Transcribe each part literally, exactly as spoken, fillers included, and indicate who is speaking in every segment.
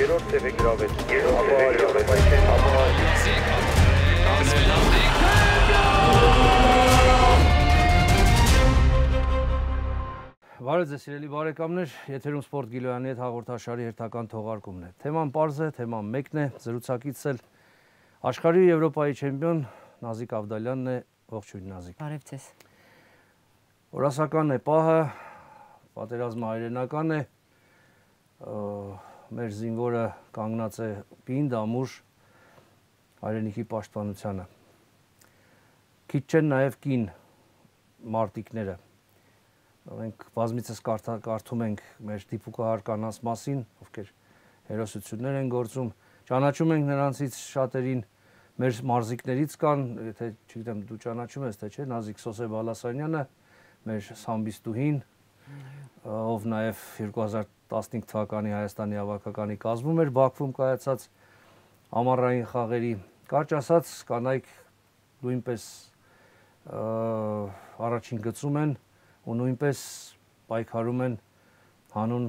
Speaker 1: երրորդ տեղ է գրավել։ Երրորդ տեղ է գրավել, բայց
Speaker 2: Բարև ձեզ սիրելի բարեկամներ, եթերում Սպորտ Գիլոյանի հետ հաղորդաշարի հերթական թողարկումն է։ Թեման պարզ է, թեման մեկն է, զրուցակիցս էլ աշխարհի ու Եվրոպայի չեմպիոն Նազիկ Ավդալյանն է, ողջույն Նազիկ։
Speaker 3: Բարև ձեզ։
Speaker 2: Օրասական է պահը, պատերազմը հայրենական է, մեր զինվորը կանգնած է պինդ, ամուր հայրենիքի պաշտպանությանը։ Քիչ չեն նաև կին մարտիկները։ Մենք բազմիցս կարդում ենք մեր դիպուկահար կանանց մասին, ովքեր հերոսություններ են գործում, ճանաչում ենք նրանցից շատերին, մեր մարզիկներից կան, եթե չգիտեմ դու ճանաչում ես թե չէ, Նազիկ Սոսե Բալասանյանը, մեր սամբիստուհին, ով նաև երկու հազար տասնհինգ թվականի Հայաստանի հավաքականի կազմում էր Բաքվում կայացած ամառային խաղերի, կարճ ասած կանայք նույնպես առաջին գծում են ու նույնպես պայքարում են հանուն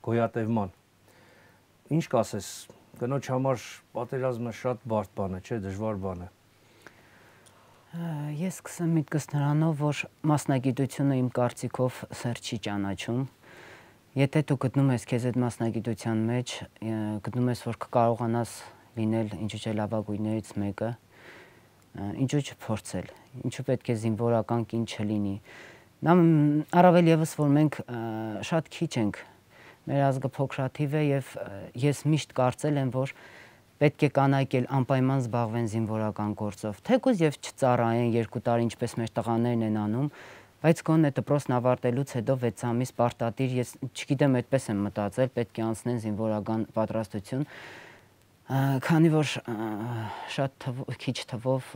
Speaker 2: գոյատևման։ Ինչ կասես, կնոջ համար պատերազմը շատ բարդ բան է, չէ, դժվար բան է։
Speaker 3: Ես սկսեմ միտքս նրանով, որ մասնագիտությունը իմ կարծիքով սեր չի ճանաչում։ Եթե դու գտնում ես քեզ այդ մասնագիտության մեջ, գտնում ես, որ կկարողանաս լինել ինչու՞ չէ լավագույններից մեկը, ինչու՞ չփորձել, ինչու պետք է զինվորական կին չլինի։ Առավել եւս, որ մենք շատ քիչ ենք, մեր ազգը փոքրաթիվ է եւ ես միշտ կարծել եմ, որ պետք է կանայք էլ անպայման զբաղվեն զինվորական գործով, թեկուզ եւ չծառայեն երկու տարի, ինչպես մեր տղաներն են անում, բայց գոնե դպրոցն ավարտելուց հետո վեց ամիս պարտադիր, ես չգիտեմ, այդպես եմ մտածել, պետք է անցնեն զինվորական պատրաստություն, քանի որ շատ քիչ թվով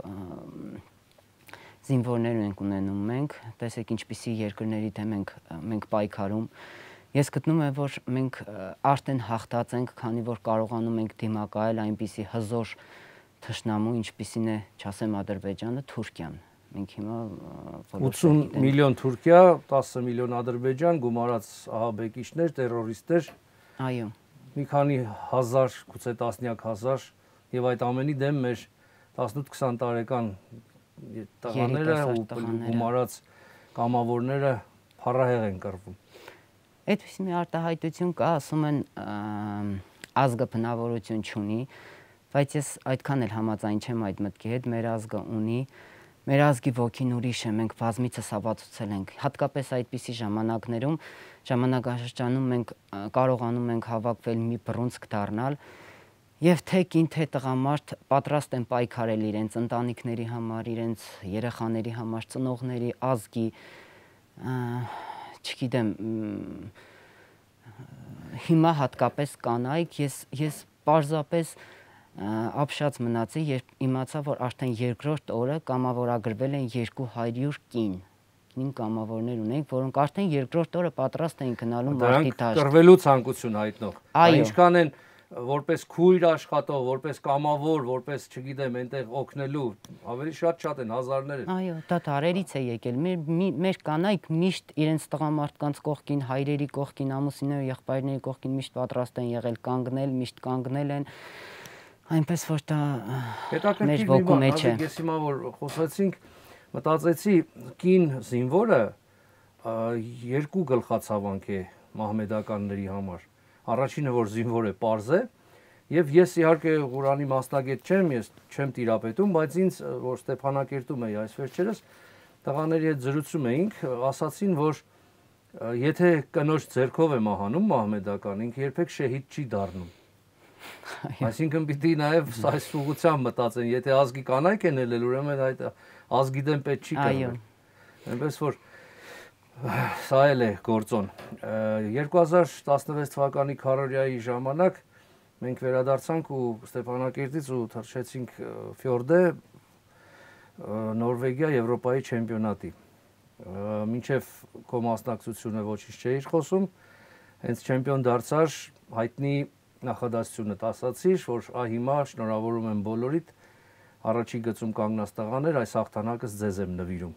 Speaker 3: զինվորներ ենք ունենում մենք, տեսեք ինչպիսի երկրների դեմ ենք մենք պայքարում։ Ես գտնում եմ, որ մենք արդեն հաղթած ենք, քանի որ կարողանում ենք դիմակայել այնպիսի հզոր թշնամու, ինչպիսին է, չասեմ Ադրբեջանը, Թուրքիան։ Մենք հիմա
Speaker 2: ութսուն միլիոն Թուրքիա, տասը միլիոն Ադրբեջան, գումարած ահաբեկիչներ, տերորիստներ,
Speaker 3: այո,
Speaker 2: մի քանի հազար, գուցե տասնյակ հազար, եւ այդ ամենի դեմ մեր տասնութ-քսան տարեկան տղաները ու գումարած կամավորները փառահեղ են կռվում։
Speaker 3: Այդպես մի արտահայտություն կա, ասում են ազգը բնավորություն չունի, բայց ես այդքան էլ համաձայն չեմ այդ մտքի հետ, մեր ազգը ունի, մեր ազգի ոգին ուրիշ է, մենք բազմիցս ապացուցել ենք, հատկապես այդպիսի ժամանակներում, ժամանակաշրջանում մենք կարողանում ենք հավաքվել մի բռունցք դառնալ եւ թե կին թե տղամարդ պատրաստ են պայքարել իրենց ընտանիքների համար, իրենց երեխաների համար, ծնողների, ազգի, չգիտեմ, հիմա հատկապես կանայք, ես ես պարզապես ապշած մնացի, երբ իմացա, որ արդեն երկրորդ օրը կամավորագրվել են երկու հարյուր կին, կին կամավորներ ունենք, որոնք արդեն երկրորդ օրը պատրաստ էին գնալու մարտի դաշտ։
Speaker 2: Դրանք կռվելու ցանկություն հայտնող։
Speaker 3: Այո։
Speaker 2: Ինչքան են որպես քույր աշխատող, որպես կամավոր, որպես, չգիտեմ, այնտեղ օգնելու, ավելի շատ-շատ են, հազարներ են։
Speaker 3: Այո, դա դարերից է եկել։ Մեր մեր կանայք միշտ իրենց տղամարդկանց կողքին, հայրերի կողքին, ամուսինների, եղբայրների կողքին միշտ պատրաստ են եղել կանգնել, միշտ կանգնել են։ Այնպես որ դա մեր ոգու մեջ է։
Speaker 2: Ես հիմա որ խոսացինք, մտածեցի, կին զինվորը երկու գլխացավանք է մահմեդականների համար։ Առաջինը, որ զինվոր է, պարզ է, եւ ես իհարկե Ղուրանի մասնագետ չեմ, ես չեմ տիրապետում, բայց ինձ, որ Ստեփանակերտում էի այս վերջերս, տղաների հետ զրուցում էինք, ասացին, որ եթե կնոջ ձեռքով է մահանում մահմեդական, ինքը երբեք շեհիդ չի դառնում։ Այսինքն պիտի նաեւ այս ուղղությամբ մտածեն, եթե ազգի կանայք են ելել, ուրեմն այդ ազգի դեմ պետք չի կռվել։ Այնպես որ սա էլ է գործոն։ երկու հազար տասնվեց թվականի քարորիայի ժամանակ մենք վերադարձանք ու Ստեփանակերտից ու թռչեցինք Ֆյորդե Նորվեգիա Եվրոպայի չեմպիոնատի։ Մինչև քո մասնակցությունը ոչինչ չէիր խոսում, հենց չեմպիոն դարձար, հայտնի նախադասությունը ասացիր, որ ահ հիմա շնորհավորում եմ բոլորիդ, առաջի գծում կանգնած տղաներ, այս հաղթանակս ձեզ եմ նվիրում։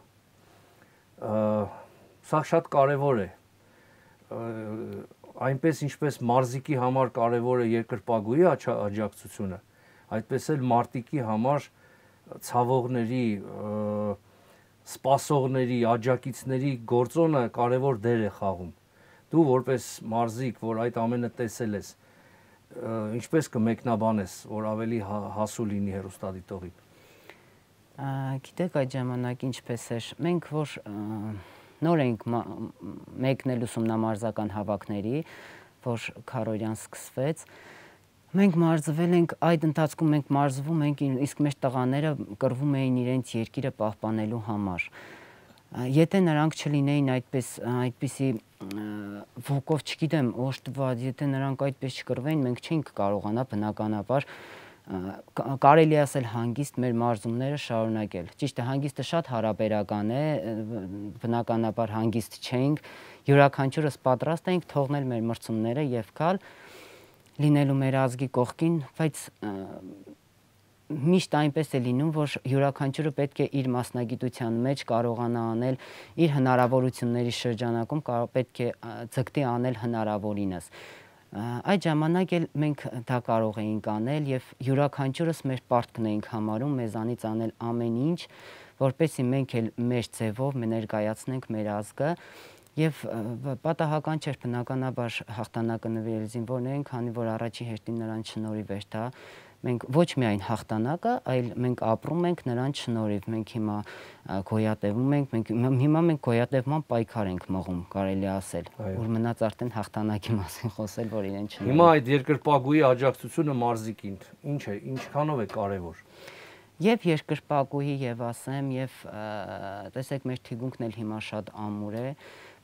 Speaker 2: Սա շատ կարևոր է։ այնպես ինչպես մարզիկի համար կարևոր է երկրպագուի աջակցությունը, այդպես էլ մարտիկի համար ցավողների, սպասողների, աջակիցների գործոնը կարևոր դեր է խաղում։ Դու որպես մարզիկ, որ այդ ամենը տեսել ես, ինչպես կմեկնաբանես, որ ավելի հասու լինի հեռուստադիտողին։
Speaker 3: Գիտեք, այդ ժամանակ ինչպես էր, մենք որ նոր ենք մեկնել ուսումնամարզական հավաքների, որ Քարորյան սկսվեց, մենք մարզվել ենք, այդ ընթացքում մենք մարզվում ենք, իսկ մեր տղաները կռվում էին իրենց երկիրը պահպանելու համար։ Եթե նրանք չլինեին այդպես, այդպիսի ոգով, չգիտեմ, օժտված, եթե նրանք այդպես չկռվեին, մենք չէինք կարողանա բնականաբար կարելի ասել հանգիստ մեր մարզումները շարունակել։ Ճիշտ է, հանգիստը շատ հարաբերական է, բնականաբար հանգիստ չէինք, յուրաքանչյուրս պատրաստ էինք թողնել մեր մրցումները եւ գալ լինելու մեր ազգի կողքին, բայց միշտ այնպես է լինում, որ յուրաքանչյուրը պետք է իր մասնագիտության մեջ կարողանա անել իր հնարավորությունների շրջանակում, պետք է ձգտի անել հնարավորինս։ Այդ ժամանակ էլ մենք դա կարող էինք անել եւ յուրաքանչյուրս մեր պարտքն էինք համարում մեզանից անել ամեն ինչ, որպեսզի մենք էլ մեր ձևով ներկայացնենք մեր ազգը եւ պատահական չէր բնականաբար հաղթանակը նվիրել զինվորներին, քանի որ առաջի հերթին նրանց շնորհիվ էր դա։ Մենք ոչ միայն հաղթանակը, այլ մենք ապրում ենք նրանց շնորհիվ, մենք հիմա գոյատևում ենք, մենք հիմա մենք գոյատևման պայքար ենք մղում, կարելի ասել, որ մնաց արդեն հաղթանակի մասին խոսել, որ իրեն շնորհիվ։
Speaker 2: Հիմա այդ երկրպագուի աջակցությունը մարզիկին ինչ է, ինչքանով է կարևոր։
Speaker 3: Եվ երկրպագուի եւ ասեմ, եւ տեսեք մեր թիգունքն էլ հիմա շատ ամուր է։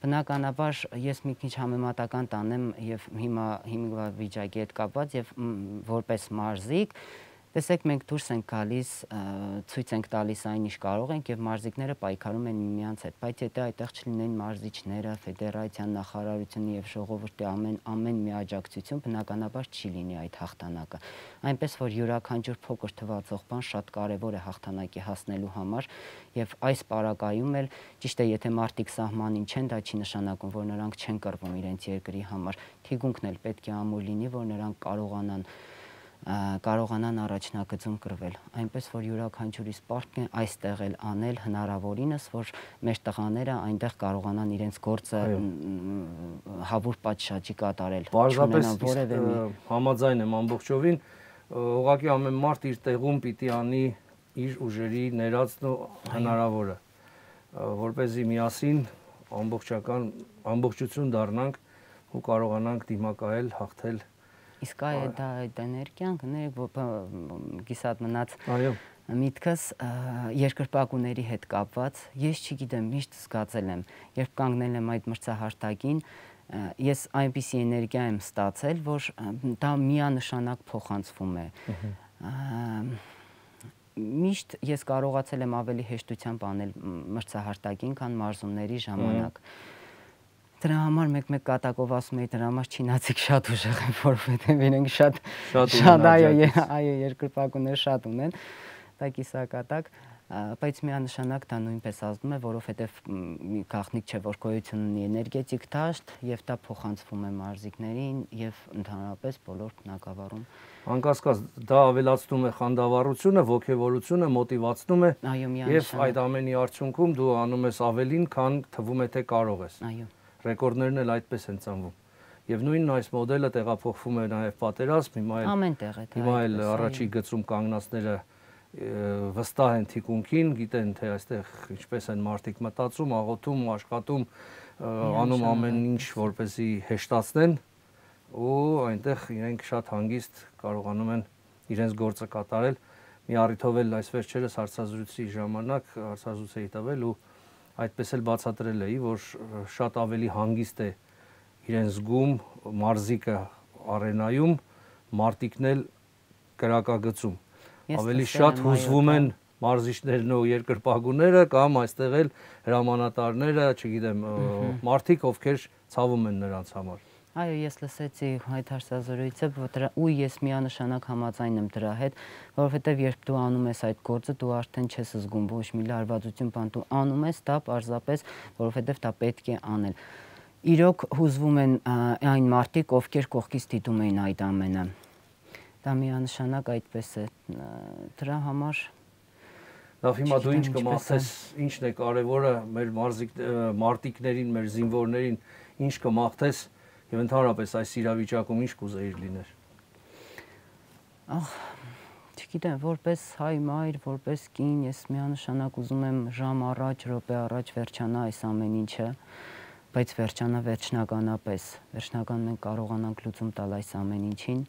Speaker 3: Բնականաբար ես մի քիչ համեմատական տանեմ եւ հիմա հիմա վիճակի հետ կապված եւ որպես մարզիկ, տեսեք մենք դուրս ենք գալիս, ցույց ենք տալիս այն ինչ կարող ենք եւ մարզիկները պայքարում են միմյանց հետ, բայց եթե այդտեղ չլինեն մարզիչները, ֆեդերացիան, նախարարությունը եւ ժողովրդի ամեն ամեն մի աջակցություն, բնականաբար չի լինի այդ հաղթանակը։ Այնպես որ յուրաքանչյուր փոքր թվացող բան շատ կարեւոր է հաղթանակի հասնելու համար եւ այս պարագայում էլ ճիշտ է, եթե մարդիկ սահմանին չեն, դա չի նշանակում, որ նրանք չեն կռվում իրենց երկրի համար։ Թիգունքն էլ պետք է ամուր լինի, որ նրանք կարողանան կարողանան առաջնակցում կրվել, այնպես որ յուրաքանչյուրիս պարտքն է այստեղ էլ անել հնարավորինս, որ մեր տղաները այնտեղ կարողանան իրենց գործը հավուր պատշաճի կատարել։
Speaker 2: Պարզապես համաձայն եմ ամբողջովին, ուղղակի ամեն մարդ իր տեղում պիտի անի իր ուժերի ներածն ու հնարավորը, որպեսզի միասին ամբողջական ամբողջություն դառնանք ու կարողանանք դիմակայել, հաղթել։
Speaker 3: Իսկ այ դա այդ էներգիան կներեք կիսատ մնաց միտքս երկրպագուների հետ կապված, ես չգիտեմ, միշտ զգացել եմ, երբ կանգնել եմ այդ մրցահարտակին, ես այնպիսի էներգիա եմ ստացել, որ դա միանշանակ փոխանցվում է։ Միշտ ես կարողացել եմ ավելի հեշտությամբ անել մրցահարտակին, քան մարզումների ժամանակ։ Դրա համար մեկ-մեկ կատակով ասում էի, դրա համար չինացիք շատ ուժեղ են, որովհետև իրենք շատ շատ այո, այո, երկրպագուներ շատ ունեն, դա կիսակատակ, բայց միանշանակ դա նույնպես ազդում է, որովհետև գաղտնիք չէ, որ գոյություն ունի էներգետիկ դաշտ եւ դա փոխանցվում է մարզիկներին եւ ընդհանրապես բոլոր բնակավարում։
Speaker 2: Անկասկած դա ավելացնում է խանդավառությունը, ոգևորությունը, մոտիվացնում է եւ այդ ամենի արդյունքում դու անում ես ավելին, քան թվում է թե կարող ես։
Speaker 3: Այո։
Speaker 2: Ռեկորդներն էլ այդպես են ծնվում։ Եվ նույնն այս մոդելը տեղափոխվում է նաև պատերազմ, հիմա էլ
Speaker 3: ամենտեղ է դա։
Speaker 2: Հիմա էլ առաջի գծում կանգնածները վստահ են թիկունքին, գիտեն թե այստեղ ինչպես են մարդիկ մտածում, աղոթում, աշխատում, անում ամեն ինչ, որպեսզի հեշտացնեն ու այնտեղ իրենք շատ հանգիստ կարողանում են իրենց գործը կատարել։ Մի առիթով էլ այս վերջերս հարցազրույցի ժամանակ հարցազրույց էի տվել ու այդպես էլ բացատրել էի, որ շատ ավելի հանգիստ է իրեն զգում մարզիկը արենայում, մարտիկն էլ կրակագծում։ Ավելի շատ հուզվում են մարզիչներն ու երկրպագուները կամ այստեղ էլ հրամանատարները, չգիտեմ, մարդիկ, ովքեր ցավում են նրանց համար։
Speaker 3: Այո, ես լսեցի այդ հարցազրույցը, ու ես միանշանակ համաձայն եմ դրա հետ, որովհետև երբ դու անում ես այդ գործը, դու արդեն չես զգում ոչ մի լարվածություն, բան դու անում ես դա պարզապես, որովհետև դա պետք է անել։ իրոք հուզվում են այն մարդիկ, ովքեր կողքից դիտում էին այդ ամենը։ Դա միանշանակ այդպես է։ Դրա համար
Speaker 2: Լավ, հիմա դու ինչ կմաղթես, ինչն է կարևորը մեր մարտիկներին, մեր զինվորներին, ինչ կմաղթես եւ ընդհանրապես այս իրավիճակում ինչ կուզեիր լիներ։
Speaker 3: Ահ, չգիտեմ, որպես հայ մայր, որպես կին, ես միանշանակ ուզում եմ ժամ առաջ, րոպե առաջ վերջանա այս ամեն ինչը, բայց վերջանա վերջնականապես, վերջնական մենք կարողանանք լուծում տալ այս ամեն ինչին։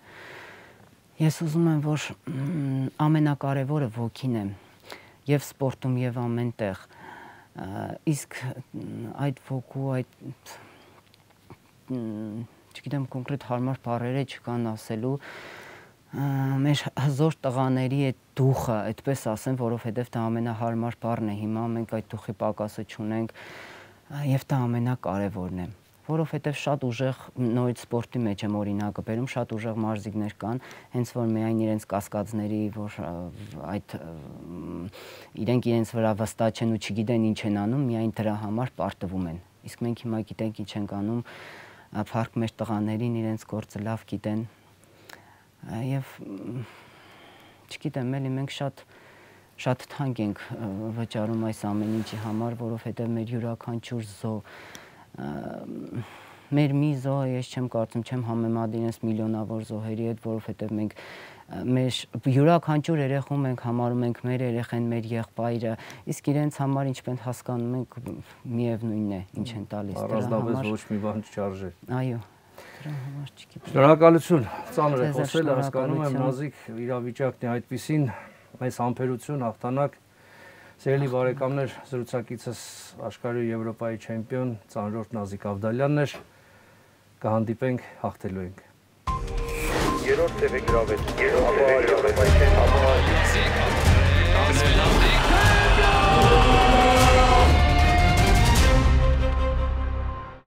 Speaker 3: Ես ուզում եմ, որ ամենակարևորը ոգին է, եւ սպորտում եւ ամենտեղ, իսկ այդ ոգու, այդ չգիտեմ կոնկրետ հարմար բառերը չկան ասելու, մեր հզոր տղաների այդ դուխը, այդպես ասեմ, որովհետև դա ամենահարմար բառն է, հիմա մենք այդ դուխի պակասը չունենք եւ դա ամենակարևորն է, որովհետև շատ ուժեղ նորից սպորտի մեջ եմ օրինակը բերում, շատ ուժեղ մարզիկներ կան, հենց որ միայն իրենց կասկածների, որ այդ իրենք իրենց վրա վստահ չեն ու չգիտեն ինչ են անում, միայն դրա համար պարտվում են, իսկ մենք հիմա գիտենք ինչ ենք անում, փառք մեր տղաներին, իրենց գործը լավ գիտեն եւ չգիտեմ, էլի մենք շատ շատ թանկ ենք վճարում այս ամեն ինչի համար, որովհետեւ մեր յուրաքանչյուր զո մեր մի զոհը ես չեմ կարծում, չեմ համեմատի իրենց միլիոնավոր զոհերի հետ, որովհետեւ մենք մեր յուրաքանչյուր երեխու մենք համարում ենք մեր երեխեն, մեր եղբայրը, իսկ իրենց համար ինչպես հասկանում ենք միևնույնն է, ինչ են տալիս
Speaker 2: դրա համար։ Առանձնապես ոչ մի բան չարժե։
Speaker 3: Այո։ Դրա համար չգիտեմ։
Speaker 2: Շնորհակալություն։ Ծանր է խոսել, հասկանում եմ Նազիկ իրավիճակն է այդպեսին, այս համբերություն, հաղթանակ։ Սիրելի բարեկամներ, զրուցակիցս աշխարհի Եվրոպայի չեմպիոն ծանրորդ Նազիկ Ավդալյանն էր։ Կհանդիպենք, հաղթելու ենք։
Speaker 1: Երրորդ տևը գրավեց։ Երրորդ տևը գրավեց։